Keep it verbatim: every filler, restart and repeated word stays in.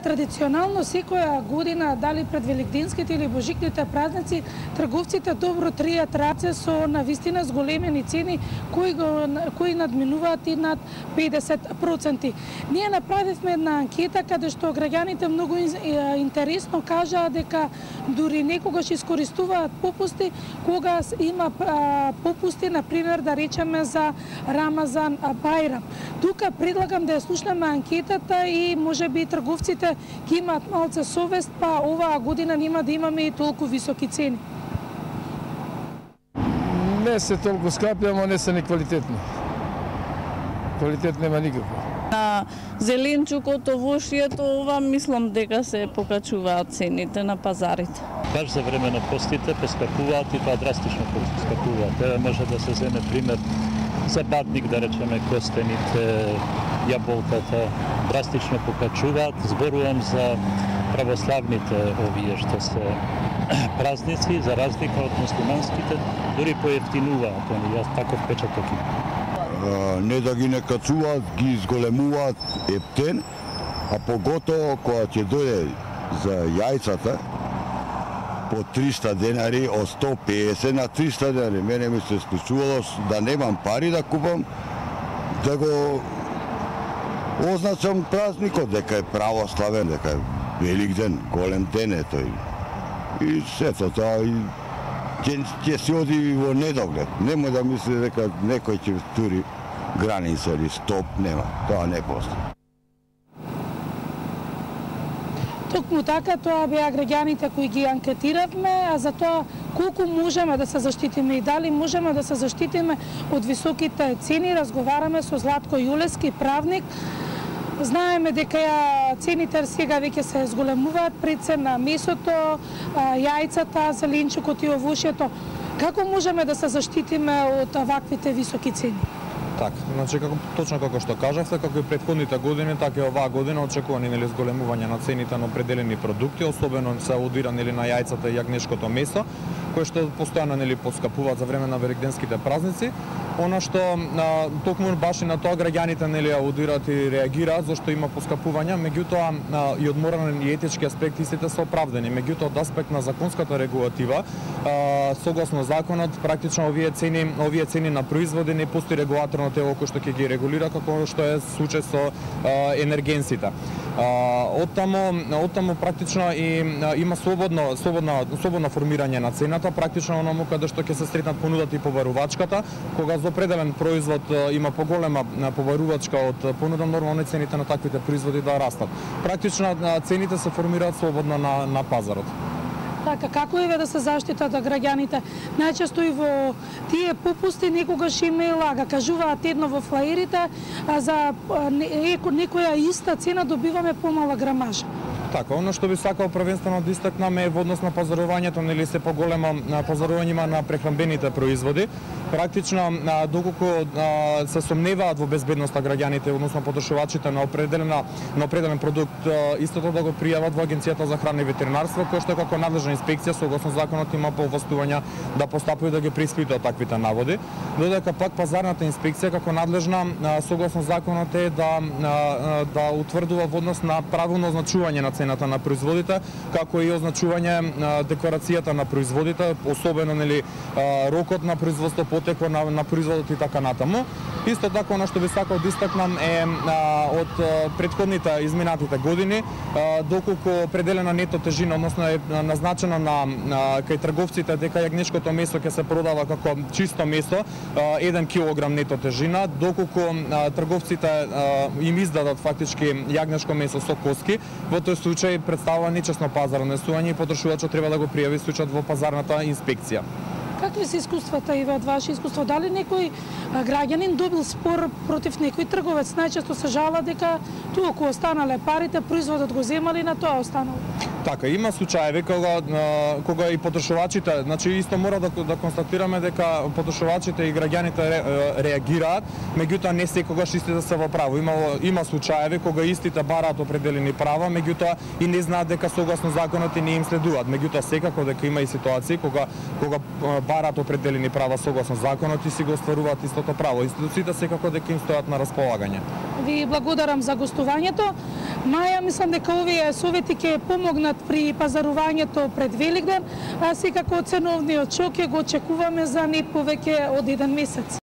Традиционално секоја година, дали пред великденските или божикните празници, трговците добро тријат раце со навистина зголемени цени кои го кои надминуваат и над педесет проценти. Ние направивме една анкета каде што граѓаните многу интересно кажаа дека дури некогаш искористуваат попусти кога има попусти, на пример да речеме за Рамазан, Бајрам. Тука предлагам да ја слушнеме анкетата и можеби трговците ќе имаат малце совест, па оваа година нема да имаме и толку високи цени. Не се толку скапи, ама не се ни квалитетни. Квалитет нема никакво. На зеленчукот, овошјето, ова мислам дека се покачуваат цените на пазарите. Баш за време на постите поскапуваат и тоа драстично поскапуваат. Еве може да се земе пример за бадник, да речеме, костените, јаболката драстично покачуваат. Зборувам за православните овие што се празници, за разлика од муслиманските, дури поевтинуваат, они јас таков впечаток имам. Не да ги накацуваат, ги изголемуваат ептен, а поготово кога ќе дојде за јајцата по триста денари, од сто песет на триста денари. Мене ми се случувало да немам пари да купам, да го означам празникот, дека е православен, дека е велик ден, голем ден е тој. И сето тоа и ќе се оди во недоглед. Немој да мисли дека некој ќе тури граница или стоп, нема. Тоа не постои. Токму така, тоа беа граѓаните кои ги анкетиравме, а за тоа колку можеме да се заштитиме и дали можеме да се заштитиме од високите цени, разговараме со Златко Јулески, правник. Знаеме дека цените сега веќе се зголемуваат, пред се на месото, јајцата, зеленчукот и овошјето. Како можеме да се заштитиме од ваквите високи цени? Така, значи како точно како што кажавте, како и претходните години, така и оваа година очекувани нели зголемување на цените на определени продукти, особено се аудира нели на јајцата и јагнешкото месо, кои што постојано нели поскапуваат за време на великденските празници. Она што а, токму баш и на тоа граѓаните нели аудираат и реагираат зашто има поскапувања, меѓутоа а, и од морален и етички аспекти сите се оправдани. Меѓутоа од аспект на законската регулатива, а, согласно законот, практично овие цени, овие цени на производи не постои регулаторно тело кој што ќе ги регулира, како што е случај со а, енергенсите. Оттаму, оттаму практично и а, има слободно, слободно, слободно формирање на цената, практично оному каде што ќе се сретнат понудата и побарувачката, кога за определен производ има поголема побарувачка од понуда, нормално цените на таквите производи да растат. Практично цените се формираат слободно на, на пазарот. Така, како еве да се заштитат граѓаните? Најчесто и во тие попусти некогаш им е лага. Кажуваат едно во флаерите, а за некоја иста цена добиваме помала грамажа. Така, оно што би сакал првенствено да истакнаме е во однос на пазарувањето, нели се поголемо пазарување има на прехранбените производи. Практично, доколку се сомневаат во безбедноста граѓаните, односно потрошувачите на определена на определен продукт, истото да го пријават во Агенцијата за храна и ветеринарство, кој што како надлежна инспекција согласно законот има повластувања да постапува да ги преиспитува таквите наводи. Додека пак пазарната инспекција како надлежна согласно законот е да да утврдува во однос на правилно означување на цената на производите, како и означување на декларацијата на производите, особено нели рокот на производство, потекло на, на производот и така натаму. Исто така, она што би сакал да истакнам е а, од а, предходните изминатите години, а, доколку определена нето тежина, односно е назначено на, на кај трговците дека јагнешкото месо ќе се продава како чисто месо, а, еден килограм нето тежина, доколку а, трговците а, им издадат фактички јагнешко месо со коски, во тој случај представува нечесно пазарно несување и потрошувачот треба да го пријави случајот во пазарната инспекција. Какви се искуствата и од ваше искуство? Дали некој граѓанин добил спор против некој трговец? Најчесто се жала дека толку останале парите, производот го земали, на тоа останало. Така, има случаеви кога кога и потрошувачите, значи исто мора да да констатираме дека потрошувачите и граѓаните ре, реагираат, меѓутоа не секогаш истите се во право. Има има случаеви кога истите бараат определени права, меѓутоа и не знаат дека согласно законот и не им следуваат. Меѓутоа секако дека има и ситуации кога кога бараат определени права согласно законот и си го остваруваат истото право. Институциите секако дека им стојат на располагање. Ви благодарам за гостувањето. Маја, мислам дека овие совети ќе помогнат при пазарувањето пред Великден, а секако ценовниот шок ќе го очекуваме за не повеќе од еден месец.